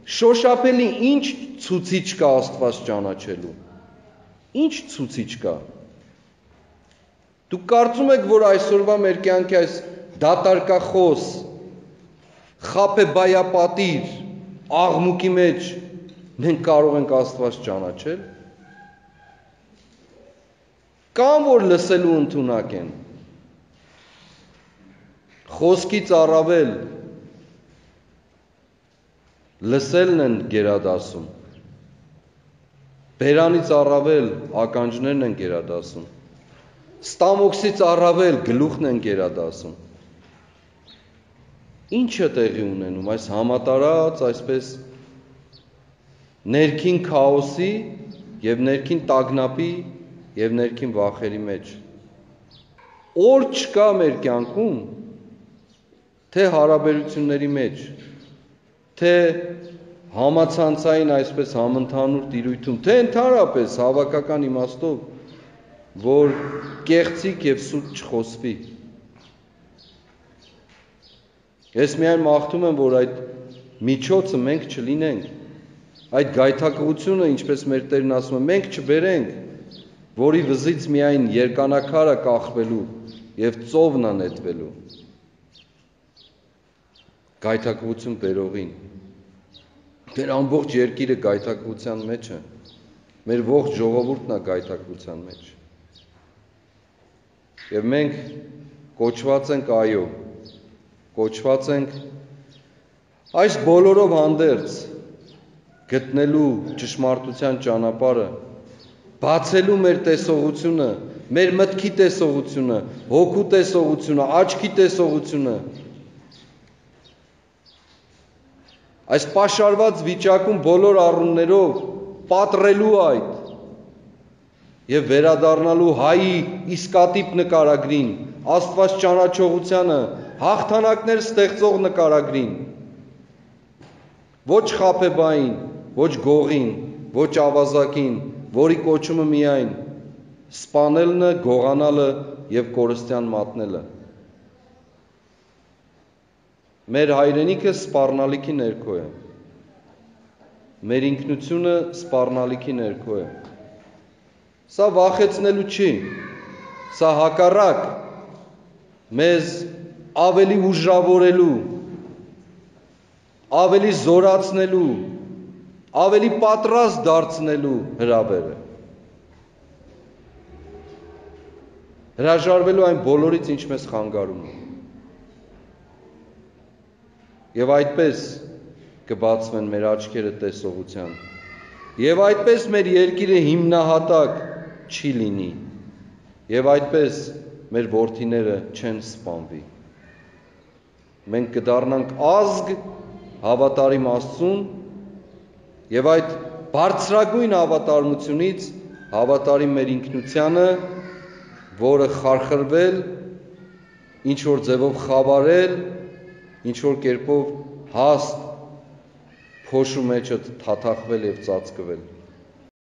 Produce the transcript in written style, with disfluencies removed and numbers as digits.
Շոշափելի ինչ ցուցիչ կա Աստված ճանաչելու։ Ինչ ցուցիչ կա։ Դուք կարծում եք, որ այսօրվա մեր կյանքի այս դատարկախոս, խաբեբայապատիր աղմուկի մեջ մենք կարող ենք Աստված ճանաչել։ Կամ որ լսելու ընդունակ են։ Խոսքից առավել լսելն են գերադասում։ Բերանից առավել ականջներն են գերադասում։ Ստամոքսից առավել գլուխն են գերադասում։ Ինչ է տեղի ունենում այս համատարած այսպես ներքին քաոսի եւ ներքին տագնապի եւ ներքին վախերի մեջ։ Օր չկա մեր կյանքում, թե հարաբերությունների մեջ, թե համացանցային այսպես համընդհանուր տիրույթում, թե ընդհանրապես հավաքական իմաստով, որ կեղծիկ եւ սուտ չխոսվի։ Ես միայն մաղթում եմ, որ այդ միջոցը մենք չլինենք, այդ գայթակղությունը, ինչպես մեր Տերն ասում է, մենք չբերենք, որի վզից միայն երկանակարը կախվելու եւ ծովն անետվելու։ Գայթակղություն բերողին։ Մեր ամբողջ երկիրը գայթակղության մեջ է։ Մեր ողջ ժողովուրդն է գայթակղության մեջ։ Եվ մենք կոչված ենք այո, կոչված ենք այս բոլորով հանդերձ գտնելու ճշմարտության ճանապարհը, բացելու մեր տեսողությունը, մեր մտքի տեսողությունը, հոգու տեսողությունը, աչքի տեսողությունը։ Այս պաշարված վիճակում բոլոր առումներով պատռելու այդ եւ վերադառնալու հայի իսկատիպ նկարագրին, Աստված ճանաչողությանը, հաղթանակներ ստեղծող նկարագրին։ Ոչ խաբեբային, ոչ գողին, ոչ ավազակին, որի կոչումը միայն սպանելն է, գողանալը եւ կորստյան մատնելը։ Մեր հայրենիքը սպառնալիքի ներքո է։ Մեր ինքնությունը սպառնալիքի ներքո է։ Սա վախեցնելու չի։ Սա հակառակ մեզ ավելի ուժավորելու, ավելի զորացնելու, ավելի պատրաստ դարձնելու հրավեր է։ Հրաժարվելու այն բոլորից, ինչ մեզ խանգարում է։ Եվ այդպես կբացվեն մեր աչքերը տեսողության։ Եվ այդպես մեր երկիրը հիմնահատակ չի լինի։ Եվ այդպես մեր որդիները չեն սպանվի։ Մենք կդառնանք ազգ հավատարիմ Աստծուն եւ այդ բարձրագույն հավատարմությունից հավատարիմ մեր ինքնությանը, որը խարխրվել, ինչ որ ձևով խավարել, ինչ որ կերպով հաստ փոշու մեջը թաթախվել եւ ծածկվել։